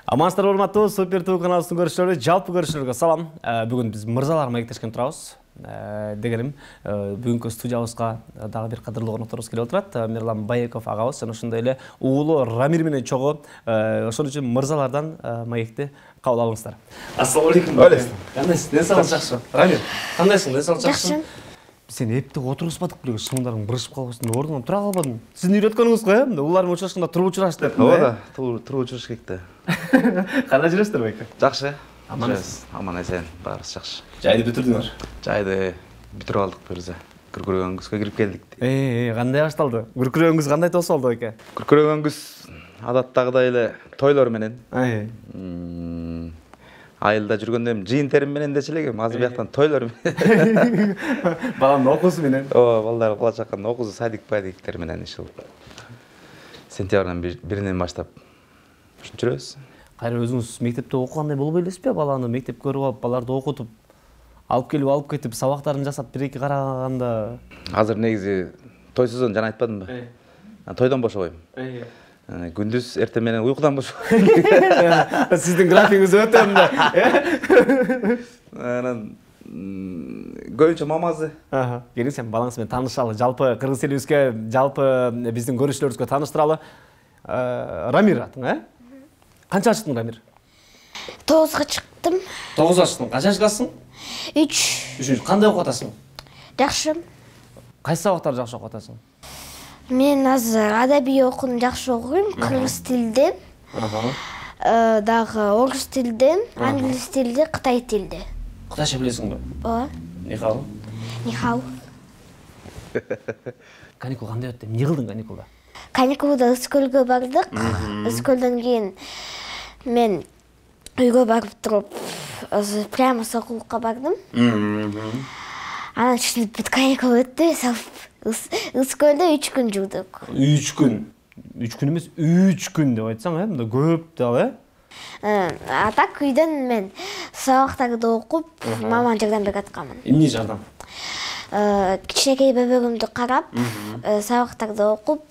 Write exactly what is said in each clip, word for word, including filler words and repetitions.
Амансыздар урматтуу Супер Ту каналыбыздын көрүүчүлөрү, жалпы көрүүчүлөргө салам. Бүгүн биз мырзалар маектешкен турабыз. Дегеним, бүгүнкү студиябызга дагы бир кадырлуу конокторубуз келип отурат. Мирлан Байеков агабыз жана ошондой эле уулу Рамир менен чогуу. Ошон үчүн мырзалардан маекти кабыл алыңыздар. Ассалам алейкум. Кандайсың? Ден соолук жакшы. Рамир, кандайсың? Ден соолук жакшы? Сен эпти отургузбадык беле, шымыңдарың бырышып калбасын деп ордуңан тура калбадың. Сиздин үйрөткөнүңүз го, э? Улар менен учурашканда туруп учураш деп. Ооба да, туруп учураш керек да. Кандай жүрөсүздөр байке? Жакшы. Амансыз. Аман эсен, баарыбыз жакшы. Жайды бүтүрдүңөр? Жайды бүтүрүп алдык бирзе. Күркүрөгөнгүзгө кирип келдик. Э, кандай башталды? Күркүрөгөнгүз кандай тосуп алды байке? Күркүрөгөнгүз адаттагыдай эле тойлор менен. Ай. Айылда жүргөндө эми жыйын терим менен дечи элек, азыр бияктан тойлор менен. Баланын окуусу менен. Ооба, балдар кула чакканда окуусу садик-падиктер менен ишил. Сентябрдын биринен баштап ушинтип жүрөбүз. Кайра өзүңүз мектепте окугандай болбой элесизби? Баланы мектепке көрүп алып, баларды окутуп, алып келип алып кетип, сабактарын жасап бир-эки караганда. Азыр негизи той сезон жана айтпадымбы? Тойдон бошобойм. Күндүз эртең менен уйкудан бошобойм. Сиздин графигиңиз өтө мындай. Анан көбүнчө мамазы. Аха. Келиң сен балаңыз менен таанышалы. Жалпы кыргыз элибизге, жалпы биздин көрүүчүлөрүбүзгө тааныштыралы. Рамир атың, э? Канча чыктың, Рамир? тогузга чыктым. тогузга чыктың. Канча жашкасың? үч. үчүнчү. Кандай окуп атасың? Жакшы. Кайсы сабактарды жакшы окуп атасың? Мен азыр адабий окууну жакшы окуйм, кыргыз тилде. Ага. Дагы орус тилде, англис тилде, кытай тилде. Кытайча билесиңби? Ооба. Нихау. Нихау. Каникул кандай өттү? Эмне кылдың каникулда? Каникулда Ыскөлгө бардык. Ыскөлдөн кийин мен үйгө барып туруп, прямо сокулукка бардым. Анан ушинтип бүт каникул өттү, Ыскөлдө үч күн жүрдүк. үч күн. үч күн эмес, үч күн деп айтсаң, э? Мында көп да, э? А так үйдөн мен сабактарды окуп, мамама жардам берип атканмын. Эмне жардам? Кичинекей бөбөгүмдү карап, сабактарды окуп,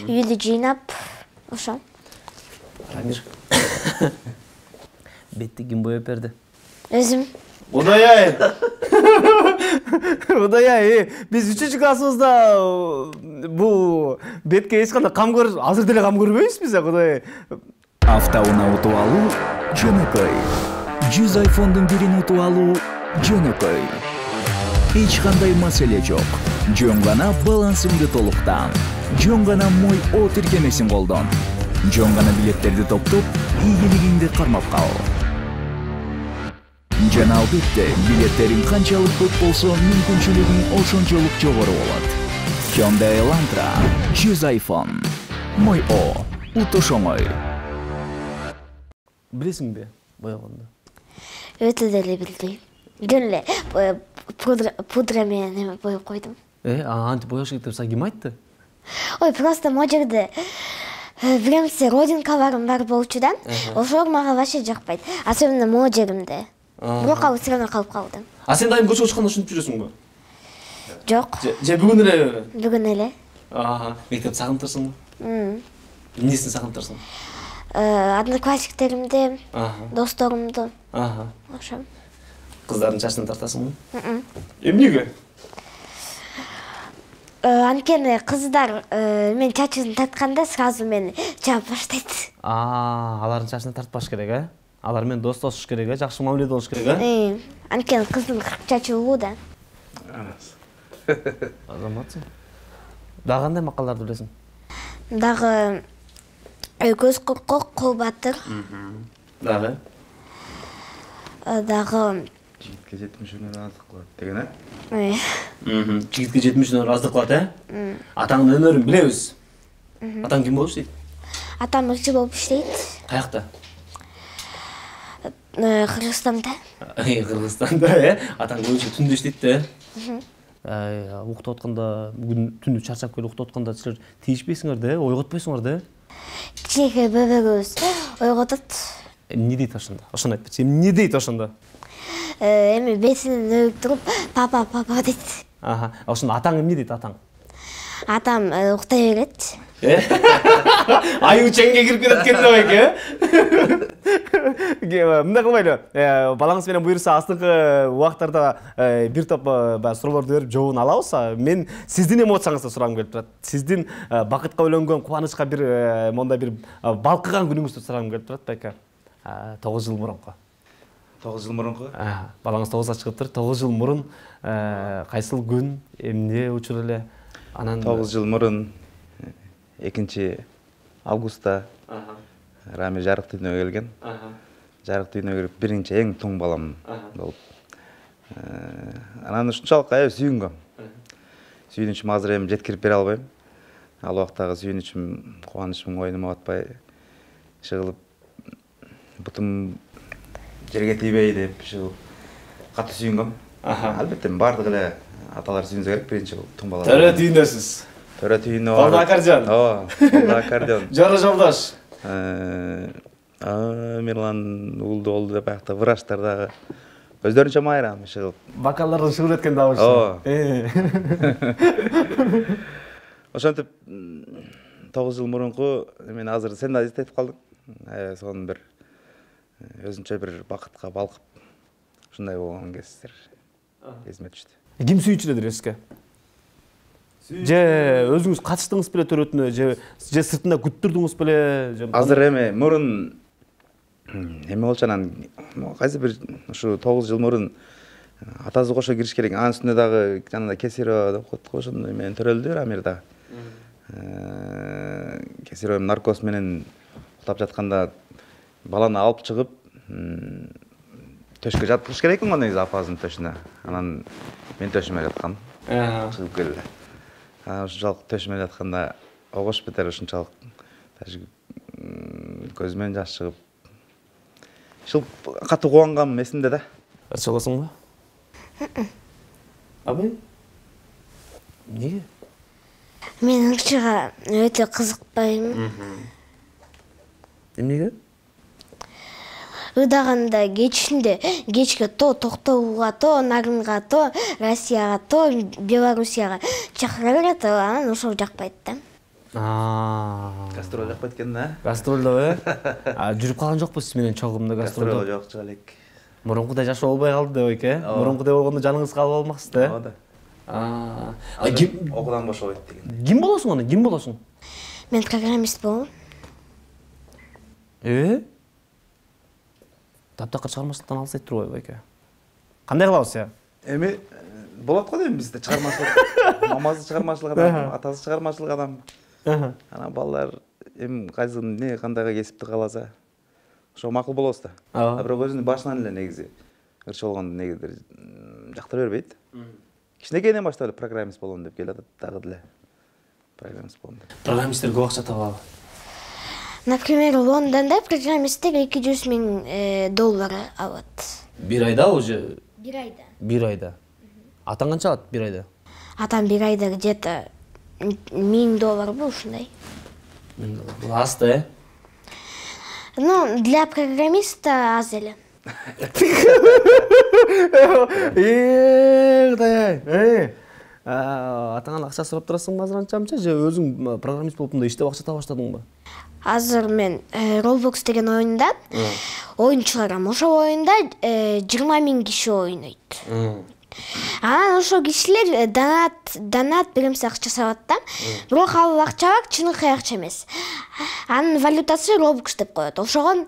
үйдү жыйнап, ошо. Рамир. Бетти ким боеп берди? Өзүм. Кудай-ай. Кудай-ай, биз үчүнчү классыбызда бул бетке эч кандай кам көрүп, азыр деле кам көрбөйбүзбү, Кудай. Автоунаа утуп алуу жөнөкөй. жүз айфондун бирин утуп алуу жөнөкөй. Эч кандай маселе жок. Жөн гана балансыңды толуктан. Жөн гана мой о тиркемесин колдон. Жөн гана билеттерди топтоп, ийгилигиңди кармап кал. Жана албетте, билеттериң канчалык көп болсо, мүмкүнчүлүгүң ошончолук жогору болот. Hyundai Elantra жүз айфон. Мой о, утуш оңой. Билесиңби боёгонду? Өтө деле билбейм. Жөн эле пудра менен боеп койдум. Э, антип боёш керек деп ким айтты? Ой, просто могу жерде биремсе родинка барым бар болчу да. Ошол мага вообще жакпайт. Особенно могу жеримде. Бирок ал все равно калып калды. А сен дайым көчөгө чыкканда ушинтип жүрөсүңбү? Жок. Же бүгүн эле? Бүгүн эле. Ага, мектеп сагынтырсыңбы? Эмнесин сагынтырсың? Одноклассниктеримди, досторумду. Ага. Ошо. Кыздардын чачын тартасыңбы? Эмнеге? Анткени кыздар мен чачын тартканда сразу мени жаап баштайт. А, алардын чачын тартпаш керек, э? Алар менен достошуш керек, э? Жакшы мамиледе болуш керек, э? Анткени кыздын чачы улуу да. Азаматсың. Дагы кандай макалдарды билесиң? Дагы көз коркок, кол батыр. Дагы? Дагы Жигитке жетимиш өнөр аздык кылат деген, э? Жигитке жетимиш өнөр аздык кылат, э? Атаңдын өнөрүн билебиз. Атаң ким болуп иштейт? Атам ырчы болуп иштейт. Каякта? Кыргызстанда. Кыргызстанда, э? Атаң көбүнчө түндө иштейт да, э? Уктап атканда, бүгүн түнү чарчап келип уктап атканда силер тийишпейсиңер да, ойготпойсуңар да? Кичинекей бөбөгүбүз ойготот. Эмне дейт ошондо? Ошону айтпачы. Эмне дейт ошондо? Эми бесинен өбүп туруп, папа, папа дейт. Аха. Ошондо атаң эмне дейт атаң? Атам уктай берет. Аю чеңге кирип кетет экен да байке. Мындай кылбайлы. Балаңыз менен буюрса астыңкы убактарда бир топ баягы суроолорду берип жообун алабыз. Мен сиздин эмоцияңызды сурагым келип турат. Сиздин бакытка бөлөнгөн, кубанычка бир мондай бир балкыган күнүңүздү сурагым келип турат байка. тогуз жыл мурунку. тогуз жыл мурунку? Балаңыз тогузга чыгыптыр. тогуз жыл мурун кайсыл күн, эмне учур эле? Анан тогуз жыл мурун экинчи августта Рами жарык дүйнөгө келген. Жарык дүйнөгө кирип биринчи эң туң балам болуп. Анан ушунчалык аябай сүйүнгөм. Сүйүнүчүм азыр эми жеткирип бере албайм. Ал убактагы сүйүнүчүм, кубанычым ойнума батпай жыгылып, бутум жерге тийбей деп жыгылып катуу сүйүнгөм. Албетте бардык эле аталар сүйүнсө керек биринчи туң бала. Төрө түйүндөсүз. Төрө түйүнү. Колдо аккордеон. Ооба, колдо аккордеон. Жора жолдош. Мирлан уулду болду деп аякта врачтар дагы өздөрүнчө майрам чыгып. Вокалдардын шыгыр эткен дабышы. Ооба. Ошентип тогуз жыл мурунку мен азыр сен да эстетип калдың. Аябай сонун бир өзүнчө бир бакытка балкып ушундай болгон кездер эсиме түштү. Ким сүйчүлөдүр эске? Же өзүңүз катыштыңыз беле төрөтүнө, же же сыртында күттүрдүңүз беле? Азыр эме мурун эме болчу анан кайсы бир ушу тогуз жыл мурун атасы кошо кириш керек. Анын үстүнө дагы жанагындай кесиро деп коет го, ошондой менен төрөлдү Амирда. Кесиро наркоз менен уктап жатканда баланы алып чыгып төшкө жаткырыш керек экен го негизи апасынын төшүнө. Анан мен төшүмө жаткам. Чыгып келди. Анан ушунчалык төшүмө жатканда огош бетер ушунчалык даже көзүмөн жаш чыгып. Ушул катуу кубангам эсимде да. Ачыласыңбы? Абай? Эмнеге? Мен ыңчыга өтө кызыкпайм. Эмнеге? Ыдаганда кечинде кечке то Токтогулга, то Нарынга, то Россияга, то Белоруссияга чакыра берет, анан ошол жакпайт да. Гастроль жакпайт экен да? Гастролдо э? Жүрүп калган жокпу сиз менен чогумда гастролдо? Гастролдо жок, жок элек. Мурункудай жашоо болбой калды деп эке? Мурункудай болгондо жаныңыз калып алмаксыз да? Ооба да. Ким окуудан бошобойт деген. Ким болосуң аны? Ким болосуң? Мен программист болом. Э? Таптакыр чыгармачылыктан алыс айтып турбайбы байке? Кандай кылабыз я? Эми болот го дейм бизде чыгармачылык. Мамасы чыгармачылык адам, атасы чыгармачылык адам. Анан балдар эми кайсы эмне кандайга кесипти кааласа, ошо макул болобуз да. А бирок өзүнүн башынан эле негизи ырчы болгондо негизир жактыра бербейт. Кичинекейинен баштап эле программист болом деп келатат дагы деле. Программист болом деп. Программисттер көп акча табабы? Например, Лондонда программисттер эки жүз миң доллар алат. Бир айда уже? Бир айда. Бир айда. Атаң канча алат бир айда? Атам бир айда где-то миң долларбы ушундай. миң доллар. Бул аз да, э? Ну, для программиста аз эле. Э, Кудай ай. Атаңан акча сурап турасыңбы азыр анча-мынча же өзүң программист болуп мындай иштеп акча таба баштадыңбы? Азыр мен Roblox деген оюнда оюн чыгарам. Ошол оюнда жыйырма миң киши ойнойт. Анан ошол кишилер донат, донат биримсе акча салат да. Бирок ал акчалар чыныгы акча эмес. Анын валютасы Robux деп коет. Ошого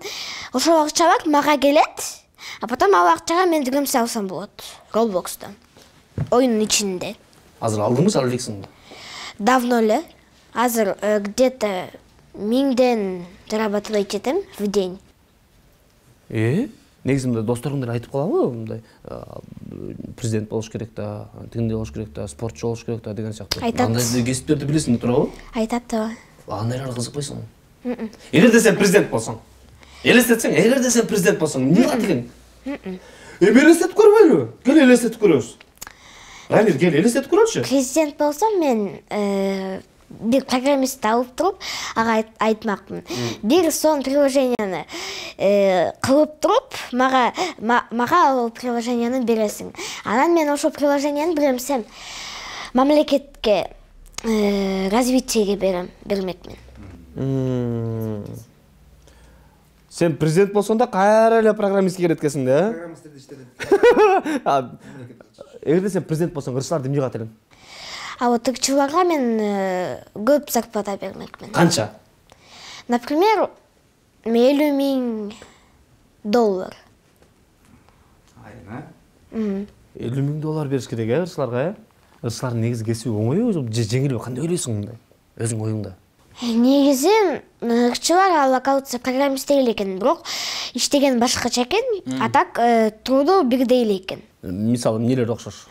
ошол акчалар мага келет, а потом ал акчага мен биримсе алсам болот. Roblox'та. Оюнун ичинде. Азыр алдыңбы, алып элексиңби? Давно эле. Азыр где-то миңден зарабатывать этем в день. Э? Негизи мындай досторуңдар айтып калабы, мындай президент болуш керек да, тигиндей болуш керек да, спортчу болуш керек да деген сыяктуу. Андай кесиптерди билесиң туурабы? Айтат да. Андайларга кызыкпайсыңбы? Эгерде сен президент болсоң, элестетсең, эгерде сен президент болсоң, эмне кылат экен? Эми элестетип көрбөйлү? Кел элестетип көрөбүз. Рамир, кел элестетип көрөлүчү. Президент болсом мен бир программист алып туруп, ага айтмакмын. Бир сон приложенияны кылып туруп, мага мага ал приложенияны бересиң. Анан мен ошол приложенияны биремсем мамлекетке развитиеге берем, бермекмин. Сен президент болсоң да кайра эле программистке кирет экенсиң да, э? Программисттерди иштетет. Эгерде сен президент болсоң, ырчыларды эмне кылат элең? А вот ырчыларга мен көп зарплата бермекмин. Канча? Например, элүү миң доллар. Айына? элүү миң доллар бериш керек, э, ырчыларга, э? Ырчылардын негизи кесиби оңойбу же жеңилби? Кандай ойлойсуң мындай? Өзүң оюңда. Негизи ырчылар ал оказывается программисттер эле экен, бирок иштеген башкача экен, а так труду бирдей эле экен. Мисалы эмнелер окшош?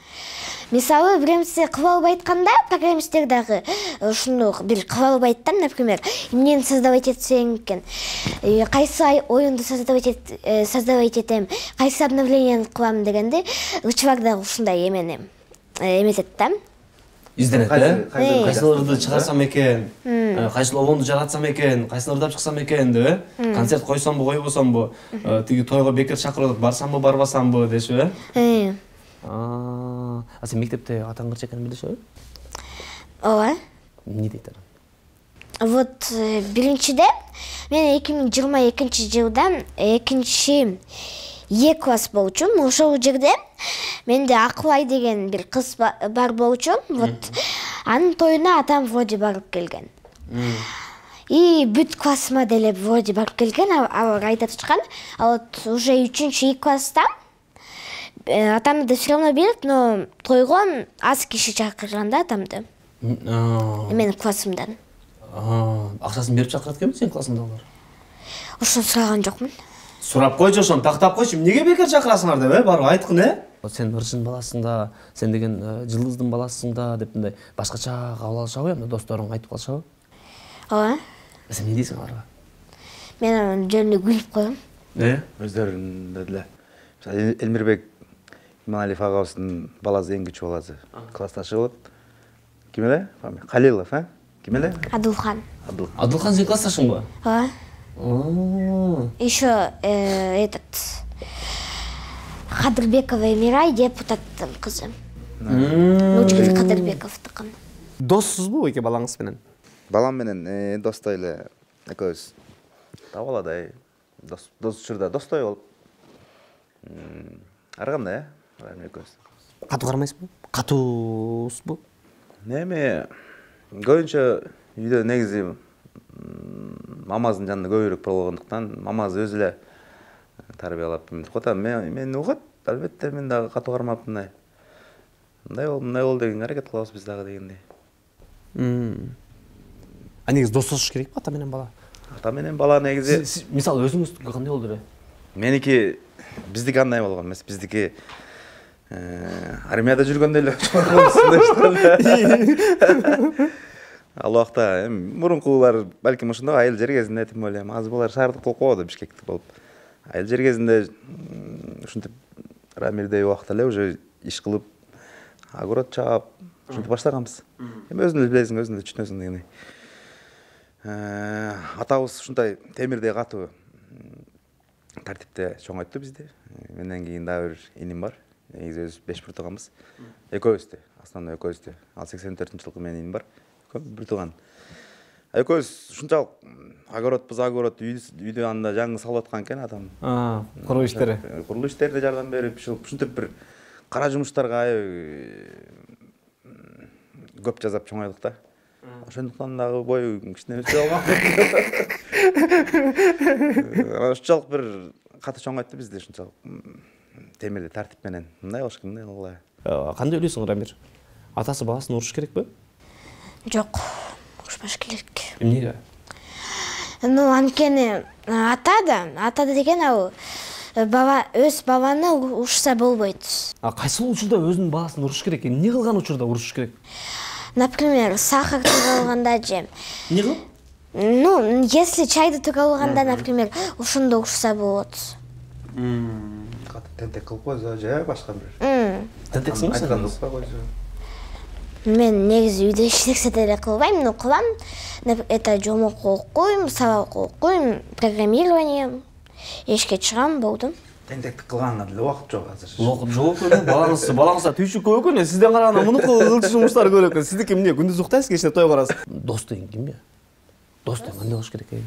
Мисалы, биремси кылып албай айтканда, программисттер дагы ушуну бир кылып албайт да, например, эмнени создавать этсең экен, кайсы оюнду создавать создавать этем, кайсы обновлениени кылам дегенде, ырчылар дагы ушундай эмени эметет да. Изденет, э? Кайсыларды чыгарсам экен, кайсыл обонду жаратсам экен, кайсыларды ырдап чыксам экен деп, э? Концерт койсомбу, койбосомбу, тиги тойго бекер чакырып, барсамбы, барбасамбы деши, э? А, а сен мектепте атаң кырчы экенин билишеби? Ооба. Эмне дейт ана? Вот биринчиде мен эки миң жыйырма экинчи жылда экинчи Е класс болчумун. Ошол жерде менде Акылай деген бир кыз бар болчу. Вот анын тоюна атам вроде барып келген. И бүт классыма деле вроде барып келген, алар айтып чыккан. А вот уже үчүнчү И класста атамды все равно билет, но тойго аз киши чакырган да атамды. Менин классымдан. Акчасын берип чакырат экенби сенин классыңдагылар? Ошону сураган жокмун. Сурап койчу, ошону тактап койчу. Эмнеге бекер чакырасыңар деп, э? Барып айткын, э? Сен ырчын баласың да, сен деген жылдыздын баласың да деп мындай башкача кабыл алышабы, эмне досторуң айтып калышабы? Ооба. Сен эмне дейсиң аларга? Мен анын жөнүндө күлүп коем. Э? Өздөрүндө деле. Мисалы Элмирбек Иманалиев агабыздын баласы эң кичүү баласы. Классташы болот. Ким эле? Калилов, э? Ким эле? Адылхан. Адылхан сен классташыңбы? Ооба. Еще этот Кадырбекова Эмирай депутаттын кызы. Нучкин Кадырбековдукун. Доссузбу эки балаңыз менен? Балам менен достой эле экөөбүз. Табаладай дос дос учурда достой болуп. Ар кандай, э? Экөөбүз. Катуу кармайсызбы? Катуусузбу? Неме көбүнчө үйдө негизи мамаздын жанында көбүрөөк болгондуктан мамасы өзү эле тарбиялап мынтип коет. Мен мени угат, албетте мен дагы катуу кармап мындай. Мындай бол, мындай бол деген аракет кылабыз биз дагы дегендей. А негизи достошуш керекпи ата менен бала? Ата менен бала негизи мисалы өзүңүздүкү кандай болду эле? Меники биздики андай болгон эмес, биздики армияда жүргөндө эле чоңойгонсундой. Ал убакта эми мурункулар балким ошондой айыл жер кезинде, тем более азыр булар шаардык болуп калды, бишкектик болуп. Айыл жер кезинде ушинтип Рамирдей убакта эле уже иш кылып, огород чаап, ушинтип баштаганбыз. Эми өзүң эле билесиң, өзүң эле түшүнөсүң дегендей. Атабыз ушундай темирдей катуу тартипте чоңойтту бизди. Менден кийин дагы бир иним бар. Негизи өзүбүз беш бир тууганбыз. Экөөбүздү, основной экөөбүздү. Ал сексен төртүнчү жылкы менин иним бар. Бир тууган. Экөөбүз ушунчалык огородбуз, огород үйдө анда жаңы салып аткан экен атам. А, куруу иштери. Курулуш иштерине жардам берип, ушинтип бир кара жумуштарга көп жасап чоңойдук да. Ошондуктан дагы бою кичине өсө алган. Ушунчалык бир катуу чоңойтты бизди, ушунчалык темирди тартип менен. Мындай болуш керек, мындай кылгыла. Кандай ойлойсуң, Рамир? Атасы баласын уруш керекпи? Жок, урушпаш керек. Эмнеге? Ну, анткени ата да, ата деген ал бала өз баланы урушса болбойт. А кайсыл учурда өзүнүн баласын уруш керек? Эмне кылган учурда уруш керек? Например, сахар алганда же. Эмне кылып? Ну, если чайды алганда, например, ошондо урушса болот. Тентек кылып койсо же башка бир. Тентексиңби сен? Айтканды укпай койсо. Мен негизи үйдө эч нерсе деле кылбайм, но кылам. Это жомок окуйм, сабак окуйм, программирование. Эшке чыгам, болду. Тентекти кылганга деле убакыт жок азыр. Убакыт жок экен. Балаңыз, балаңызда түйшүк көп экен. Сизден караганда мунуку кылчу жумуштар көп экен. Сиздики эмне? Күндүз уктайсыз, кечинде той барасыз. Дос деген кимби? Дос деген кандай болуш керек экен?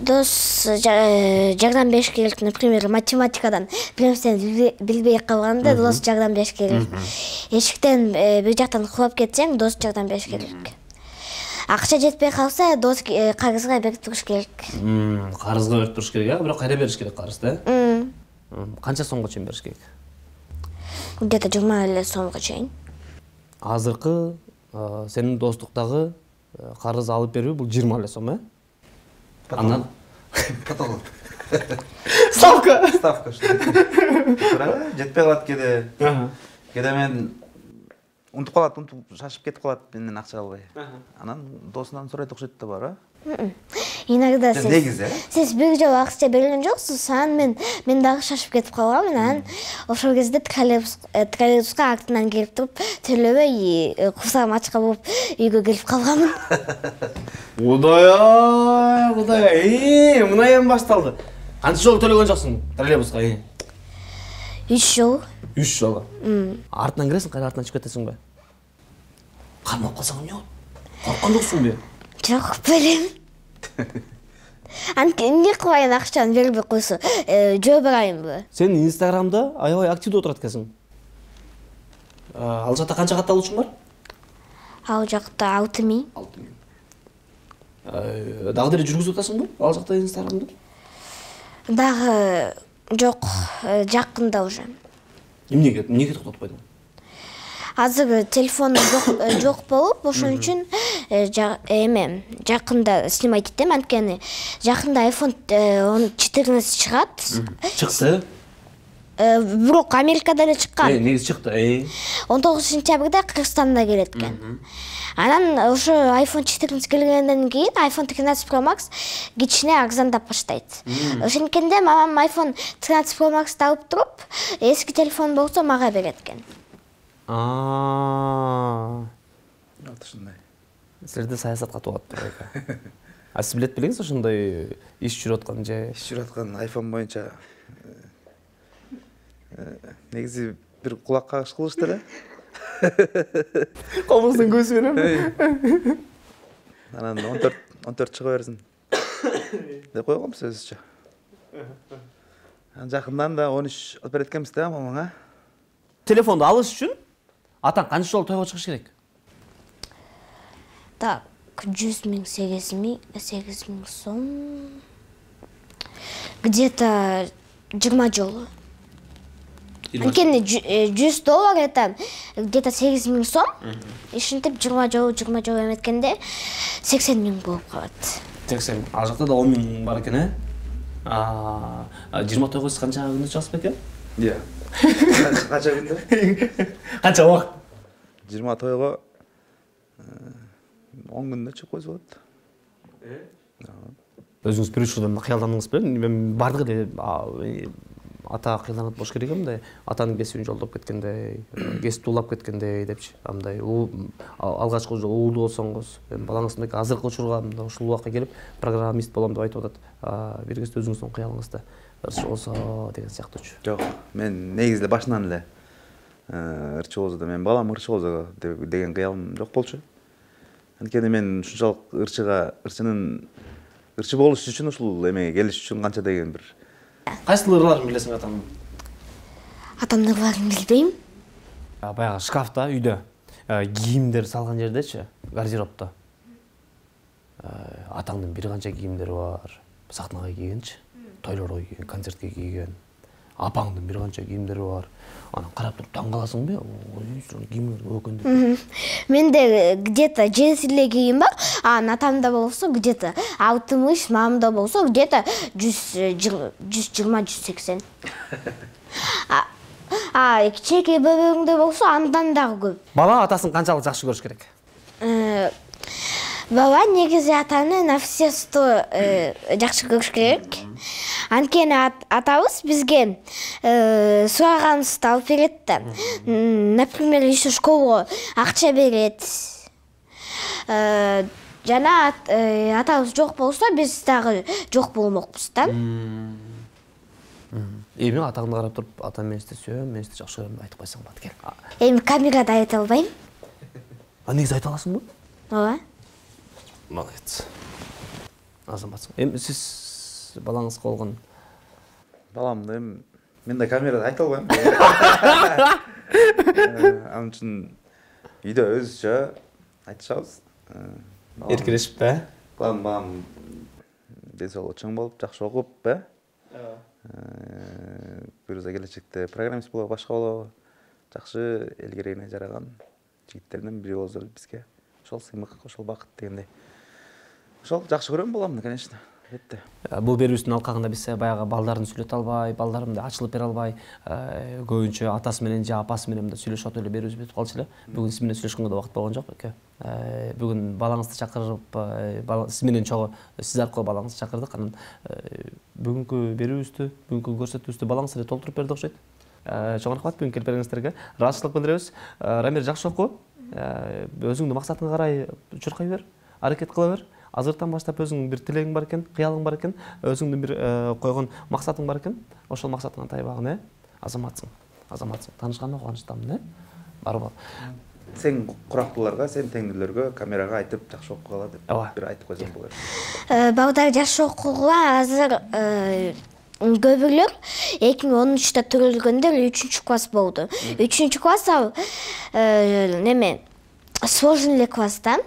дос жардам бериш керек. Например, математикадан бир нерсени билбей калганда дос жардам бериш керек. Эшиктен бир жактан кулап кетсең, дос жардам бериш керек. Акча жетпей калса, дос карызга берип туруш керек. Карызга берип туруш керек, а? Бирок кайда бериш керек карызды, э? Канча сомго чейин бериш керек? Где-то жыйырма эле сомго чейин. Азыркы сенин достуктагы карыз алып берүү бул жыйырма эле сом, э? Андан Потолок. Ставка. Ставка что? Жетпей калат кеде. Кеде мен унутуп калат, унутуп шашып кетип калат менден акча албай. Анан досунан сурайт окшойт да бар, а? Иногда сиз негизи, сиз бир жолу акча берген жоксуз, анан мен мен дагы шашып кетип калгам, анан ошол кезде троллейбуска артынан келип туруп, төлөбөй курсагым ачка болуп үйгө келип калганмын. Кудай, кудай, мына эми башталды. Канча жолу төлөгөн жоксуң троллейбуска? үч жолу. үч жолу. Артынан киресиң, кайра артынан чыгып кетесиң бе? Кармап калсаң эмне болот? Корккон жоксуңбу? Жок, белем. Анткени эмне кылайын, акчаны бербей койсо, жөө барайынбы? Сен Инстаграмда аябай активдүү отурат экенсиң. Ал жакта канча катталуучуң бар? Ал жакта алты миң. алты миң. Дагы деле жүргүзүп атасыңбы ал жакта Инстаграмды? Дагы жок, жакында уже. Эмнеге, эмнеге токтотуп койдуң? Азыр телефоным жок болуп, ошон үчүн эме жакында снимать этем, анткени жакында айфон четырнадцать чыгат. Чыкты. Бирок Америкада эле чыккан. Э, негизи чыкты. он тогузунчу сентябрда Кыргызстанда келет экен. Анан ошо айфон четырнадцать келгенден кийин айфон тринадцать Pro Max кичине арзандап баштайт. Ошенткенде мамам айфон тринадцать Pro Max алып туруп, эски телефон болсо мага берет экен. А. Вот ушундай. Силерде саясатка тууат турат. А сиз билет белеңиз ошондой иш жүрүп аткан же? Иш жүрүп аткан айфон боюнча негизи бир кулак кагыш кылышты эле. Комуздун көзү менен. Анан он төрт он төрт чыга берсин деп койгом сөзүчө. Анан жакындан да он үч алып берет экенбиз да мамаңа. Телефонду алыш үчүн атаң канча жолу тойго чыгыш керек? Так, жүз миң, сегиз миң, сегиз миң сом. Где-то жыйырма жолу. Анткени жүз доллар это где-то сегиз миң сом. Ишинтип жыйырма жолу, жыйырма жолу эметкенде сексен миң болуп калат. сексен. Ал жакта да он миң бар экен, э? А, жыйырма тогуз канча күндө чыгасыз бекен? Иә. Канча күндө? Канча убакыт? жыйырма тойго он күндө чыгып койсо болот. Өзүңүз бир үч жылдан кыялдандыңыз белем? Мен бардыгы эле ата кыялданат болуш керек эмне? Атанын кесибин жолдоп кеткендей, кесипти улап кеткендей депчи. Андай алгачкы уулуу болсоңуз, балаңыздын азыркы учурга ушул убакка келип программист болом деп айтып атат. Бир кезде өзүңүздүн кыялыңызда ырчы болсо деген сыяктуучу. Жок, мен негизи эле башынан эле ырчы болсо да, мен балам ырчы болсо деген кыялым жок болчу. Анткени мен ушунчалык ырчыга, ырчынын ырчы болуш үчүн ушул эмеге келиш үчүн канча деген бир. Кайсы ырларын билесиң атамдын? Атамдын ырларын билбейм. Баягы шкафта, үйдө кийимдер салган жердечи, гардеробто. Атаңдын бир канча кийимдери бар. Сахнага кийгенчи, тойлорго кийген, концертке кийген. Апаңдын бир канча кийимдери бар. Анан карап туруп таң каласыңбы? Ой, кийимдер өкүндү. Менде где-то жети эле кийим бар. А атамда болсо где-то алтымыш, мамамда болсо где-то жүз жыйырма, жүз сексен. А кичинекей бөбөгүңдө болсо андан дагы көп. Бала атасын канчалык жакшы көрүш керек? Бала негизи атаны на все сто жакшы көрүш керек. Анткени атабыз бизге сураганыбызды алып берет да. Например, еще школго акча берет. Жана атабыз жок болсо, биз дагы жок болмокпуз да. Эми атаңды карап туруп, атам мени сөйөм, мени жакшы көрөм айтып койсоң болот, кел. Эми камерада айта албайм. А негизи айта аласыңбы? Ооба. Молодец. Азаматсың. Эми сиз балаңыз болгон? Баламды эми мен да камерада айта албайм. Анын үчүн үйдө өзүчө айтышабыз. Эркелешип, э? Балам балам ден соолугу чоң болуп, жакшы окуп, э? Буюрса келечекте программист болобу, башка болобу, жакшы эл керегине жараган жигиттерден бири болсо бизге ошол сыймык, ошол бакыт дегендей. Ошол жакшы көрөм баламды, конечно. Албетте. Бул берүүбүздүн алкагында биз баягы балдарын сүйлөтө албай, балдарымды ачылып бере албай, көбүнчө атасы менен же апасы менен да сүйлөшүп отуп эле берүүбүз бүтүп калчу эле. Бүгүн сиз менен сүйлөшкөнгө да убакыт болгон жок эке. Бүгүн балаңызды чакырып, сиз менен чогуу сиз аркылуу балаңызды чакырдык. Анан бүгүнкү берүүбүздү, бүгүнкү көрсөтүүбүздү балаңыз эле толтуруп берди окшойт. Чоң рахмат бүгүн келип бергениңиздерге. Ыраазычылык билдиребиз. Рамир, жакшы окуу. Өзүңдүн максатыңа карай чуркай бер, аракет кыла бер. Азыртан баштап өзүңдүн бир тилегиң бар экен, кыялың бар экен, өзүңдүн бир койгон максатың бар экен. Ошол максатыңа тайбагын, э? Азаматсың. Азаматсың. Таанышканына кубанычтамын, э? Барбы? Сен курактууларга, сен теңдүүлөргө камерага айтып жакшы окугала деп бир айтып койсоң болот. Балдар жакшы окугула азыр көбүлөр эки миң он үчтө төрөлгөндөр үчүнчү класс болду. үчүнчү класс ал неме сложный эле класста.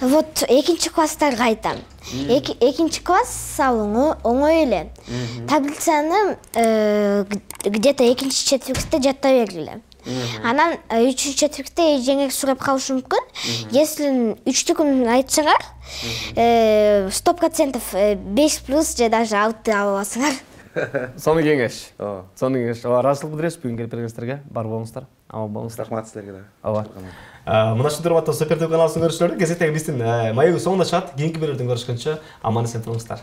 Вот экинчи класстарга айтам. Экинчи класс ал оңой эле. Таблицаны где-то экинчи четвертте жатта бергиле. Анан үчүнчү четвертте эжеңер сурап калышы мүмкүн. Если үчтүкүн айтсаңар, сто процентов беш плюс же даже алты аласыңар. Сону кеңеш. Сону кеңеш. Ыраазычылык билдиребиз бүгүн келип бергениңиздерге. Бар болуңуздар. Аман болуңуздар. Рахмат силерге да. Ооба. Мына ушундай урматтуу Супер ТВ каналыбыздын көрүүчүлөрү, кезектеги биздин маегибиз соңуна чыгат. Кийинки берүүдөн көрүшкөнчө аман эсен туруңуздар.